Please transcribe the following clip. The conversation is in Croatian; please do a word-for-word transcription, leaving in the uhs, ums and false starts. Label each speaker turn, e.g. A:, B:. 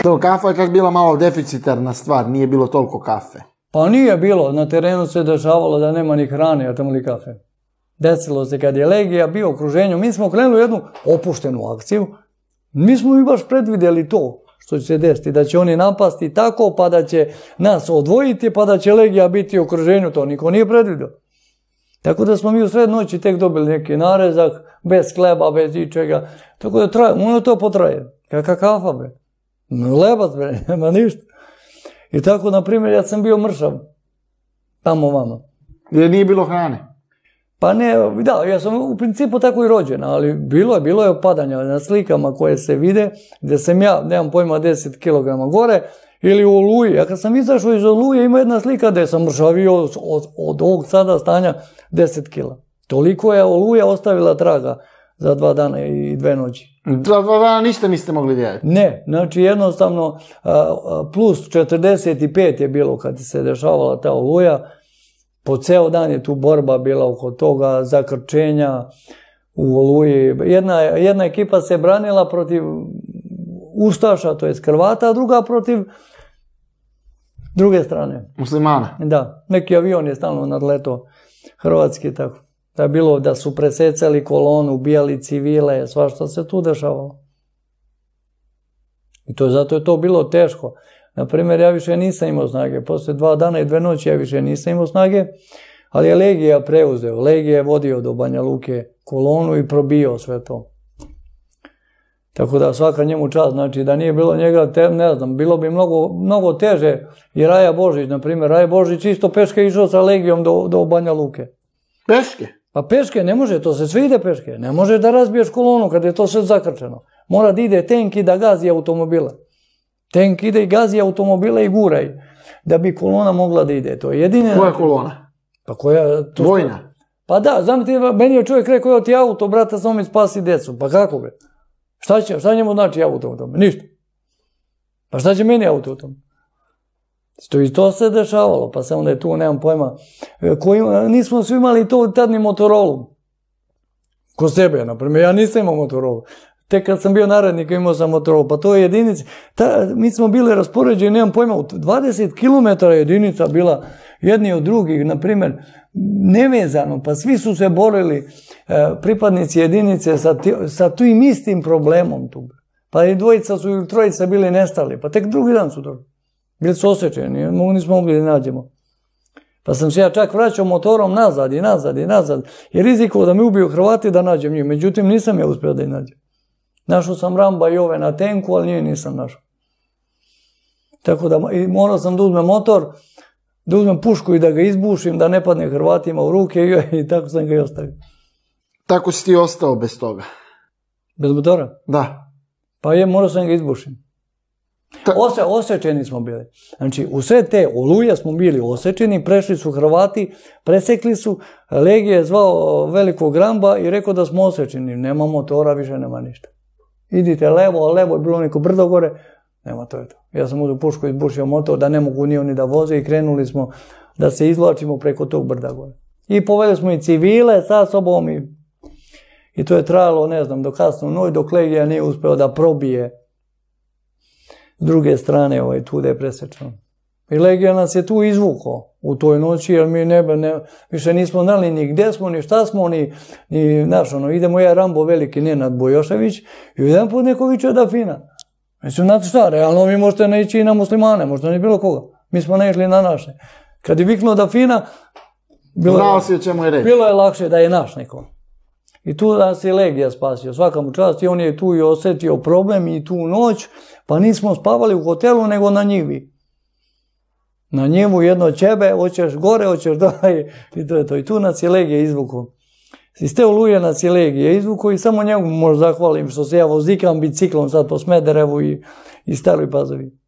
A: To kafa je čak bila malo deficitarna stvar, nije bilo toliko kafe.
B: Pa nije bilo, na terenu se dešavalo da nema ni hrane, a tamo li kafe. Desilo se kad je Legija bio u okruženju, mi smo krenuli jednu opuštenu akciju, mi smo i baš predvidjeli to što će se desiti, da će oni napasti tako, pa da će nas odvojiti, pa da će Legija biti u okruženju, to niko nije predvidio. Tako da smo mi u sred noći tek dobili neki narezak, bez kleba, bez ičega, tako da traje, ono to potraje, kakva kafa, bre. Lebac, bre, nema ništa. I tako, na primjer, ja sam bio mršav, tamo vama.
A: Jer nije bilo hrane?
B: Pa ne, da, ja sam u principu tako i rođen, ali bilo je, bilo je opadanja na slikama koje se vide, gdje sam ja, nemam pojma, deset kilograma gore, ili u Oluji. Ja kad sam izašao iz Oluje, ima jedna slika gdje sam mršavio od, od ovog sada stanja deset kila. Toliko je Oluja ostavila traga za dva dana i dve noći.
A: Za dva dana ništa niste mogli djeliti?
B: Ne, znači jednostavno plus četrdeset pet je bilo kad se dešavala ta Oluja. Po ceo dan je tu borba bila oko toga, zakrčenja u Oluji. Jedna, jedna ekipa se branila protiv Ustaša, to je Hrvata, a druga protiv druge strane.
A: Muslimana?
B: Da, neki avion je stalno nadletao hrvatski, tako. Da je bilo da su presecali kolonu, ubijali civile, svašta se tu dešavalo. I to zato je to bilo teško. Naprimjer, ja više nisam imao snage. Posle dva dana i dve noći ja više nisam imao snage, ali je Legija preuzeo. Legija je vodio do Banja Luke kolonu i probio sve to. Tako da svaka njemu čast, znači da nije bilo njega, te, ne znam, bilo bi mnogo, mnogo teže. I Raja Božić, na primjer, Raja Božić isto peške išao sa Legijom do, do Banja Luke.
A: Peške?
B: Pa peške, ne može, to se sve ide peške. Ne može da razbiješ kolonu kad je to sve zakrčeno. Mora da ide tenk i da gazi automobila. Tenk ide i gazi automobila i guraj, da bi kolona mogla da ide. To je jedine...
A: Koja kolona?
B: Pa koja... To
A: Vojna?
B: Pa da, znam ti, meni je čovjek rekao, evo ti auto, brata, samo mi spasi decu. Pa kako be? Šta će, šta njemu znači auto u tome? Ništa. Pa šta će meni auto u tome? To i to se dešavalo, pa samo da je tu, nemam pojma. Koji, nismo svi imali to tad ni Motorolu. Ko sebe, naprimjer, ja nisam imao Motorolu. Tek kad sam bio narednik imao sam Motorolu, pa to je jedinica. Ta, mi smo bili raspoređeni, nemam pojma, u dvadeset kilometara jedinica bila jedni od drugih, naprimjer, nevezano, pa svi su se borili e, pripadnici jedinice sa, sa tim istim problemom tu. Pa i dvojica su ili trojica bili nestali, pa tek drugi dan su došli. Bili su osjećeni, nismo mogli da nađemo. Pa sam se ja čak vraćao motorom nazad i nazad i nazad, i riziko da me ubiju Hrvati da nađem njih, međutim nisam ja uspio da ih nađem. Našao sam Ramba i ove na tenku, ali njih nisam našao. Tako da i morao sam da uzmem motor, da uzmem pušku i da ga izbušim, da ne padne Hrvatima u ruke i, i tako sam ga i ostavio.
A: Tako si ti ostao bez toga?
B: Bez motora?
A: Da.
B: Pa je, morao sam ga izbušim. Ose, osečeni smo bili. Znači, u sve te Oluje smo bili osečeni, prešli su Hrvati, presekli su, Legija je zvao velikog Ramba i rekao da smo osečeni. Nema motora, više nema ništa. Idite levo, a levo je bilo neko brdo gore, nema, to je to. Ja sam uzeo pušku, izbušio motor, da ne mogu ni oni da voze i krenuli smo da se izvlačimo preko tog brda gore. I poveli smo i civile sa sobom i, i to je trajalo, ne znam, do kasno noć, dok Legija nije uspeo da probije s druge strane ovaj, tu da je presečeno. I Legija nas je tu izvukao u toj noći, jer mi ne, ne, više nismo znali ni gdje smo, ni šta smo, ni, ni naš, ono, idemo ja Rambo veliki Nenad Bojošević i jedan put neko viče da fina. Mislim, znate šta, realno vi možete ne ići i na muslimane, možda ne bilo koga. Mi smo ne išli na naše. Kad je viknuo da fina, bilo,
A: znao si o čemu je reći.
B: Bilo je lakše da je naš neko. I tu nas je Legija spasio, svaka mu čast, i on je tu i osjetio problem i tu noć, pa nismo spavali u hotelu, nego na njivi. Na njivu jedno ćebe, hoćeš gore, hoćeš dole, i to je to. I tu nas je Legija izvukao. Iz te Oluje nas je Legija izvukao i samo njemu možda zahvalim što se ja vozikam biciklom sad po Smederevu i, i Staroj Pazovi.